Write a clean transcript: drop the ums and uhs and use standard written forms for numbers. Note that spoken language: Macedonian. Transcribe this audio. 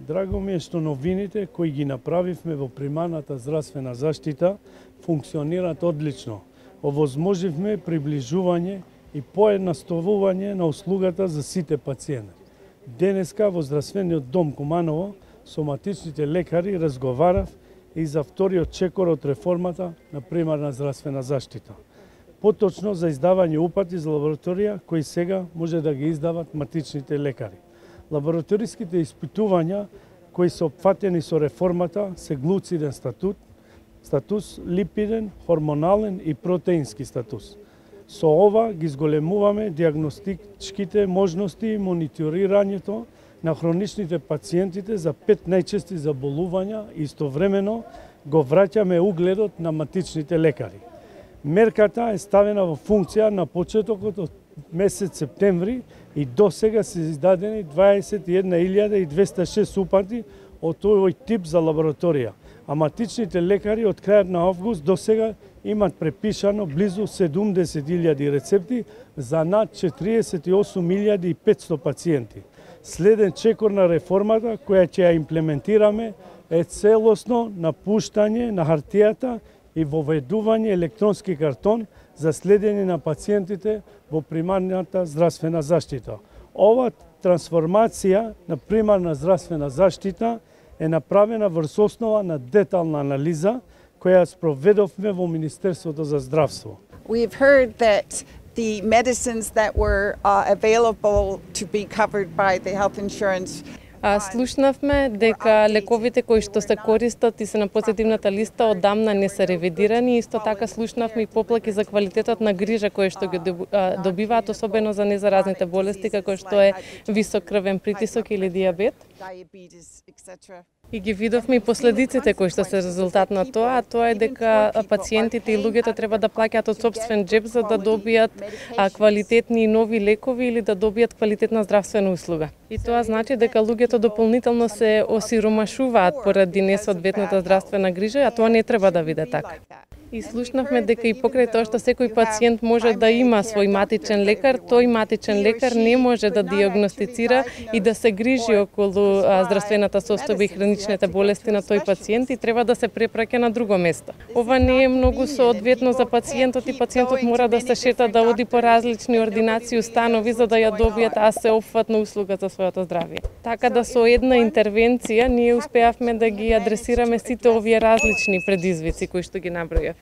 Драго ми е што новините кои ги направивме во примарната здравствена заштита функционираат одлично. Овозможивме приближување и поедноставување на услугата за сите пациенти. Денеска во здравствениот дом Куманово соматичните лекари разговарав и за вториот чекор од реформата на примарна здравствена заштита. Поточно за издавање упати за лабораторија кои сега може да ги издават матичните лекари. Лабораториските испитувања кои се опфатени со реформата се глуциден статус, липиден, хормонален и протеински статус. Со ова ги зголемуваме диагностичките можности и мониторирањето на хроничните пациентите за 5 најчести заболувања и истовремено го враќаме угледот на матичните лекари. Мерката е ставена во функција на почетокот од месец септември и до сега се издадени 21.206 упати од овој тип за лабораторија, а матичните лекари од крајот на август до сега имат препишано близу 70.000 рецепти за над 48.500 пациенти. Следен чекор на реформата која ќе ја имплементираме е целосно напуштање на хартијата и воведување електронски картон за следење на пациентите во примарната здравствена заштита. Ова трансформација на примарна здравствена заштита е направена врз основа на детална анализа која спроведовме во Министерството за здравство. We've heard that the medicines that were available to be covered by the health insurance. Слушнавме дека лековите кои што се користат и се на позитивната листа одамна не се ревидирани. Исто така слушнавме и поплаки за квалитетот на грижа кои што ги добиваат, особено за незаразните болести како што е висок крвен притисок или дијабет. И ги видовме и последиците кои што се резултат на тоа, а тоа е дека пациентите и луѓето треба да плаќаат од сопствен џеб за да добијат квалитетни и нови лекови или да добијат квалитетна здравствена услуга. И тоа значи дека луѓето дополнително се осиромашуваат поради несоодветната здравствена грижа, а тоа не треба да биде така. И слушнавме дека и покрај тоа што секој пациент може да има свој матичен лекар, тој матичен лекар не може да диагностицира и да се грижи околу здравствената состојба и хроничните болести на тој пациент и треба да се препраќа на друго место. Ова не е многу соодветно за пациентот и пациентот мора да се шета да оди по различни ординации установи за да ја добијат сеопфатна услуга за своето здравје. Така да со една интервенција ние успеавме да ги адресираме сите овие различни предизвици кои што ги набројав.